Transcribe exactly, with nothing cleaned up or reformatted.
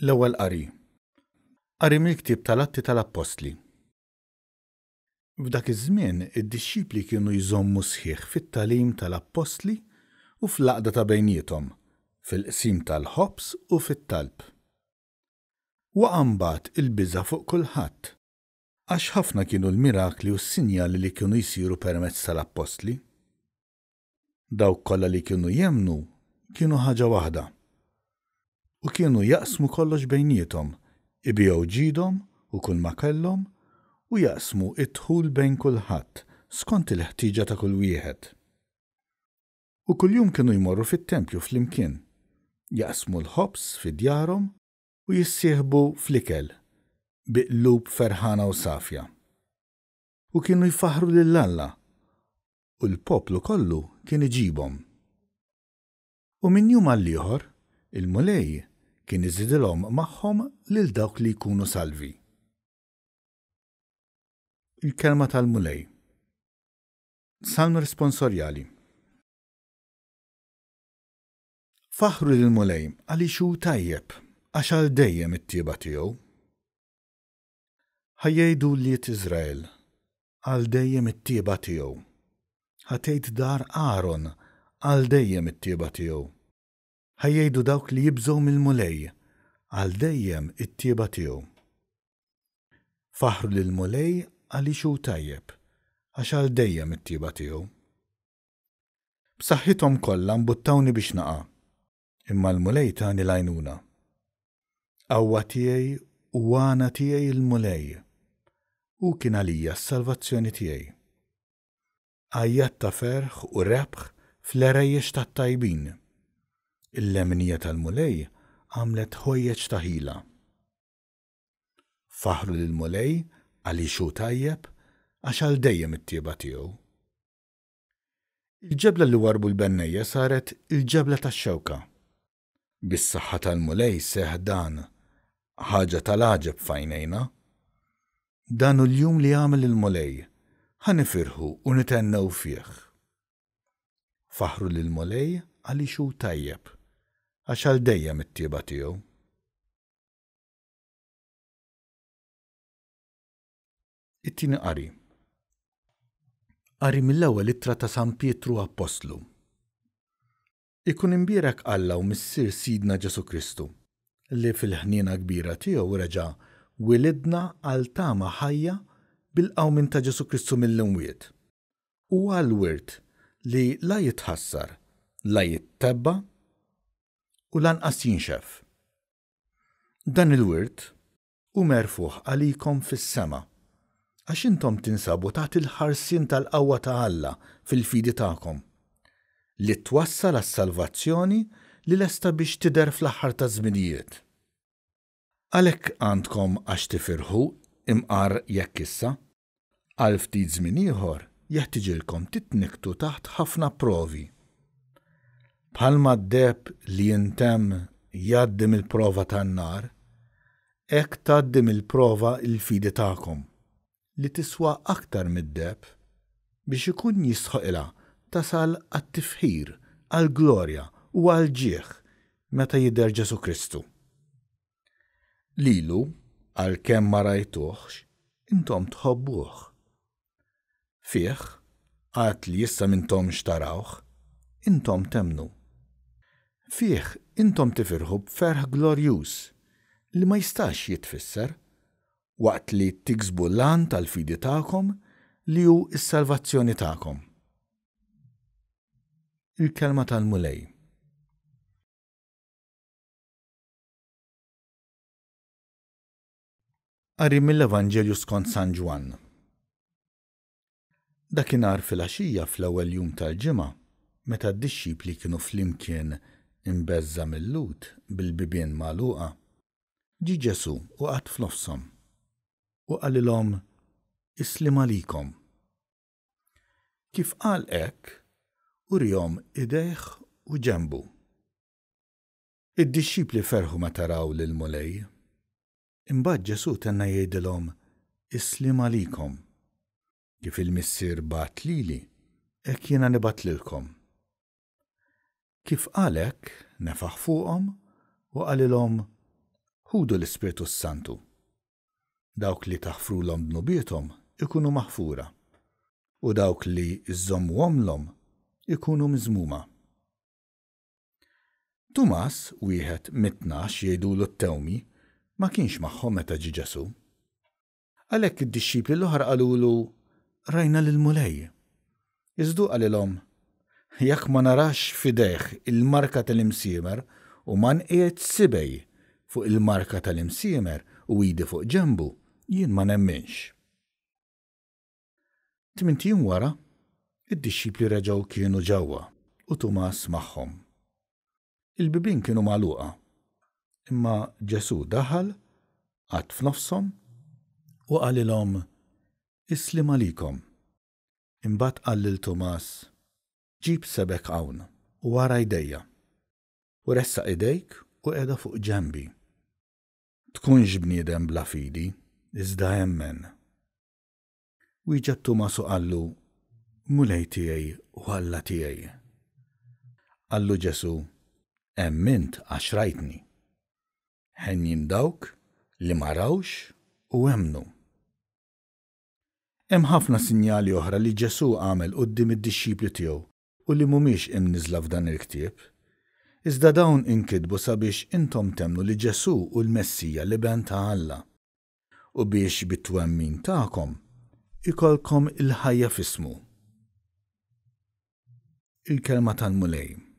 L-ewwel qari. Qari mill-ktieb tal-Atti tal-Appostli. F'dak iż-żmien id-dixxipli kienu jżommu sħiħ fit-tagħlim tal-Appostli u fl-għaqda ta' bejniethom, fil-qsim tal-ħobż u fit-talb. Waqa' mbagħad il-biża' fuq kulħadd, għax ħafna kienu l-mirakli u s-sinjali li kienu jsiru permezz tal-Appostli. Dawk kollha li kienu jemmnu kienu ħaġa waħda u kienu jaqsmu kollox bejniethom, ibigħu ġidhom u kull ma kellhom u jaqsmu d-dħul bejn kulħadd skont il-ħtieġa ta' kull wieħed. U kuljum kienu jmorru fit-tempju flimkien, jaqsmu l-ħobż fi djarhom u jissieħbu fl-ikel bi qlub ferħana u safja. U kienu jfaħħru lil Alla u l-poplu kollu kien iġibhom. U minn jum għall-ieħor, il-Mulej kien iżidilhom magħhom lil dawk li jkunu salvi. Il-kelma tal-Mulej. Salm responsorjali. Faħħru lill-Mulej għaliex hu tajjeb, għax għal dejjem it-tjieba tiegħu. Ħa jgħidu wlied Iżrael, għal dejjem it-tjieba tiegħu. Ħa tgħid dar Aaron, għal dejjem it-tjieba tiegħu. Ħa jgħidu dawk li jibżgħu mill-Mulej, għal dejjem it-tjieba tiegħu. Faħħru lill-Mulej għaliex hu tajjeb, għax għal dejjem it-tjieba tiegħu. B'saħħithom kollha mbuttawni biex naqa', imma l-Mulej tani l-għajnuna. Qawwa tiegħi u għana tiegħi l-Mulej. Hu kien għalija s-salvazzjoni tiegħi. Għajjat ta' ferħ u rebħ fl-għerejjex tat-tajbin. Il-leminija tal-Mulej għamlet ħwejjeġ ta' ħila. Faħħru lill-Mulej għaliex hu tajjeb, għax għal dejjem it-tjieba tiegħu. Il-ġebla li warrbu l-bennejja saret il-ġebla tax-xewka. Bis-saħħa tal-Mulej seħħ dan, ħaġa tal-għaġeb f'għajnejna. Dan hu l-jum li għamel il-Mulej, ħa nifirħu u nithennew fih. Faħħru lill-Mulej għaliex hu tajjeb, għax għal dejjem it-tjieba tiegħu. It-tieni qari. Qari mill-ewwel ittra ta' San Pietru Appostlu. Ikun imbierek Alla u Missier Sidna Ġesù Kristu, li fil-ħniena kbira tiegħu reġa' wilidna għal tama ħajja bil-qawmien ta' Ġesù Kristu mill-imwiet, u għal wirt li la jitħassar, la jittebba' u lanqas jinxef. Dan il-wirt hu merfugħ għalikom fis-sema, għax intom tinsabu taħt il-ħarsien tal-qawwa ta' Alla fil-fidi tagħkom, li twassal għas-salvazzjoni li lesta biex tidher fl-aħħar taż-żminijiet. Għalhekk għandkom għax tifirħu imqar jekk issa, għal ftit żmien ieħor, jeħtiġilkom titnikktu taħt ħafna provi. Bħalma d-deheb li jintemm jgħaddi mill-prova tan-nar, hekk tgħaddi mill-prova l-fidi tagħkom, li tiswa aktar mid-deheb, biex ikun jistħoqilha tasal għat-tifħir, għall-glorja u għall-ġieħ meta jidher Ġesù Kristu. Lilu, għalkemm ma rajtuhx, intom tħobbuh. Fih, għad li issa m'intomx tarawh, intom temmnu. Fih intom tifirħu b'ferħ glorjuż li ma jistax jitfisser, waqt li tiksbu l-għan tal-fidi tagħkom li hu s-salvazzjoni tagħkom. Il-Kelma tal-Mulej. Qari mill-Evanġelju skont San Ġwann. Dakinhar filgħaxija fl-ewwel jum tal-ġimgħa, meta d-dixxipli kienu flimkien imbeżża' mil-Lhud bil-bibien magħluqa, ġie Ġesù u qagħad f'nofshom, u qalilhom, Is-sliem għalikom. Kif qal hekk, urihom idejh u ġenbu. Id-dixxipli ferħu meta raw lill-Mulej. Imbagħad Ġesù tenna jgħidilhom, Is-sliem għalikom. Kif il-Missier bagħat lili, hekk jiena nibgħat lilkom. Kif qal hekk, nefaħ fuqhom u qalilhom, Ħudu l-Ispirtu s-Santu. Dawk li taħfrulhom dnubiethom ikunu maħfura, u dawk li żżommuhomlhom ikunu miżmuma. Tumas, wieħed mit-tnax jgħidulu t-Tewmi, ma kienx magħhom meta ġie Ġesù. Għalhekk id-dixxipli l-oħra qalulu, Rajna lill-Mulej. Iżda hu qalilhom, Jekk ma narax f'idejh il-marka tal-imsiemer u ma nqiegħed sibgħi fuq il-marka tal-imsiemer u idi fuq ġenbu, jien ma nemminx. Tmint ijiem wara, id-dixxipli reġgħu kienu ġewwa u Tumas magħhom. Il-bibien kienu magħluqa, imma Ġesù daħal, qagħad f'nofshom u qalilhom, Is-sliem għalikom. Imbagħad qal lil Tumas, Ġib sebgħek hawn u ara jdejja, u ressaq idejk u qiegħda fuq ġenbi. Tkunx bniedem bla fidi, iżda emmen. Wieġeb Tumas u qallu, Mulej tiegħi u Alla tiegħi. Qallu Ġesù, Emmint għax rajtni. Henjin dawk li ma rawx u emmnu. Hemm ħafna sinjali oħra li Ġesù għamel quddiem id-dixxipli tiegħu u li mhumiex imniżżla f'dan il-ktieb. Iżda dawn inkitbu sabiex intom temmnu li Ġesù hu l-Messija, l-Iben ta' Alla, u biex bit-twemmin tagħkom ikollkom il-ħajja f'ismu. Il-Kelma tal-Mulej.